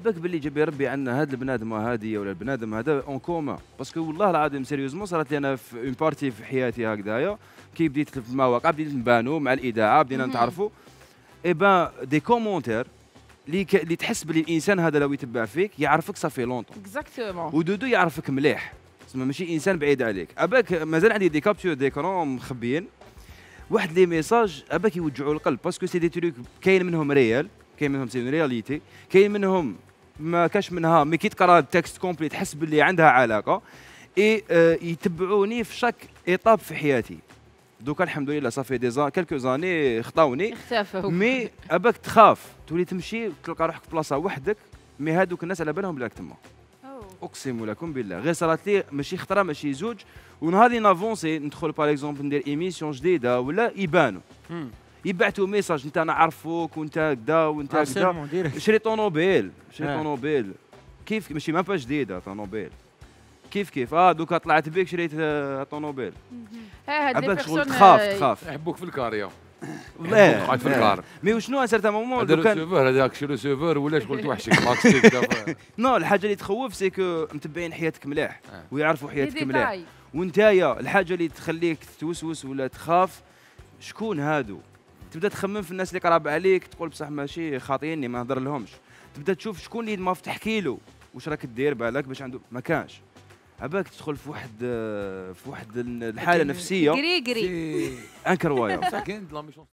بالك باللي جاب ربي عندنا هاد البنادم هادي ولا البنادم هذا اون كومان باسكو والله العظيم سيريوزمون صارت لي انا في اون بارتي في حياتي هكذايا كي بديت في المواقع بديت نبانو مع الاذاعه بدينا نتعرفوا اي بان دي كومونتير اللي تحس باللي الانسان هذا لو يتبع فيك يعرفك صافي لونطون اكزاكتومون ودودو يعرفك مليح تسمى ماشي انسان بعيد عليك اباك مازال عندي دي كابتور ديكرون مخبيين واحد لي ميساج اباك يوجعوا القلب باسكو سي دي تروك كاين منهم ريال كاين منهم سي رياليتي كاين منهم ما كاش منها مي كي تقرا التكست كومبلي تحس باللي عندها علاقه اي يتبعوني في شاك ايطاب في حياتي دوكا الحمد لله صافي دي كالكو زاني خطاوني اختفوا مي اباك تخاف تولي تمشي تلقى روحك في بلاصه وحدك مي هادوك الناس على بالهم بلاك تما اقسم لكم بالله غير صارت لي ماشي خطره ماشي زوج ونهار اللي نافونسي ندخل باغ اكزومبل ندير ايميسيون جديده ولا يبانوا يبعثوا ميساج انت نعرفوك وانت كدا وانت كدا شري طونوبيل كيف ماشي ما جديده طونوبيل كيف دوكا طلعت بك شريت طونوبيل هاد لي شغل بيرسون تخاف يحبوك في الكاريا لا في الكار مي وشنو سارت مومون هذا السيرفور هذاك شي سيرفور ولا شغل توحشك ماكس نو الحاجه اللي تخوف سي كو متبعين حياتك مليح ويعرفوا حياتك مليح وانتايا الحاجه اللي تخليك توسوس ولا تخاف شكون هادو تبدا تخمم في الناس اللي قراب عليك تقول بصح ماشي خاطيني ما نهضر لهمش تبدا تشوف شكون اللي ما تحكي له واش راك دير بالك باش عنده ما كانش عباك تدخل في واحد الحاله نفسيه كري انكرويابل